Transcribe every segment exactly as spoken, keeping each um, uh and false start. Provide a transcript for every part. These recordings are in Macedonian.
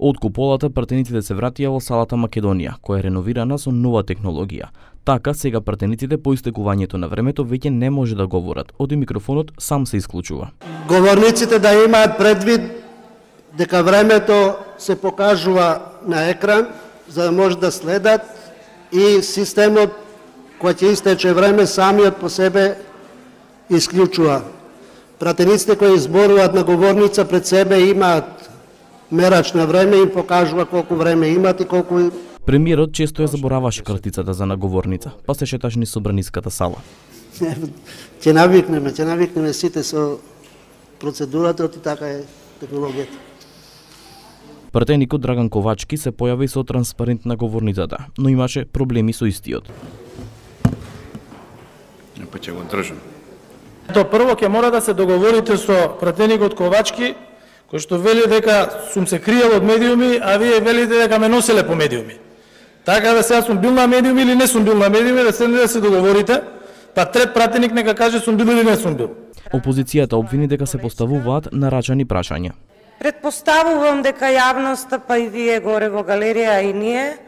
Од куполата пратениците се вратија во салата Македонија, која е реновирана со нова технологија. Така, сега пратениците по истекувањето на времето веќе не може да говорат, оди микрофонот сам се исклучува. Говорниците да имаат предвид дека времето се покажува на екран, за да може да следат и системот кој ќе истече време самиот по себе исклучува. Пратениците кои зборуваат на говорница пред себе имаат мерач на време и им покажува колку време имат и колку... Премиерот често ја забораваше картицата за наговорница, па се шеташ низ собраниската сала. Ќе навикнеме, ќе навикнеме сите со процедурата, и така е технологијата. Пратеникот Драган Ковачки се појави со транспарент на говорницата, но имаше проблеми со истиот. Па ќе го држам. Ето прво ќе мора да се договорите со пратеникот Ковачки, кој што вели дека сум се криел од медиуми, а вие велите дека ме носеле по медиуми. Така да сега сум бил на медиуми или не сум бил на медиуми, да седнете да се договорите, па трет пратеник нека каже сум бил или не сум бил. Опозицијата обвини дека се поставуваат нарачани прашања. Предпоставувам дека јавноста, па и вие горе во галерија, а и ние,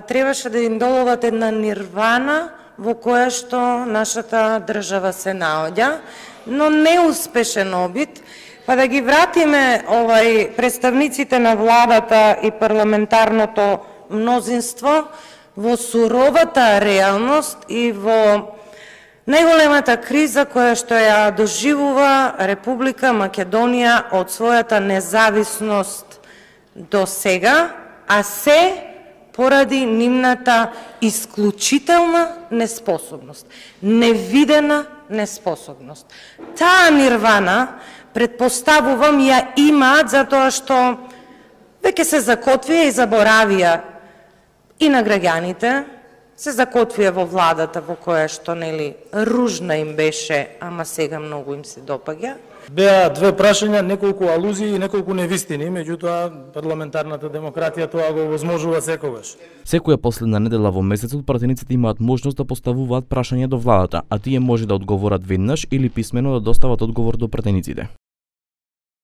требаше да им доловат една нирвана во која што нашата држава се наоѓа, но неуспешен обид, па да ги вратиме овај представниците на владата и парламентарното мнозинство во суровата реалност и во најголемата криза која што ја доживува Република Македонија од својата независност до сега, а се поради нивната исклучителна неспособност, невидена неспособност. Таа нирвана, предпоставувам, ја имаат затоа што веќе се закотвија и заборавија и на граѓаните, се закотвија во владата во која што нели ружна им беше, ама сега многу им се допаѓа. Беа две прашања, неколку алузии и неколку невистини, меѓутоа парламентарната демократија тоа го возможува секогаш. Секоја последна недела во месецот пратениците имаат можност да поставуваат прашања до владата, а тие може да одговорат веднаш или писмено да достават одговор до пратениците.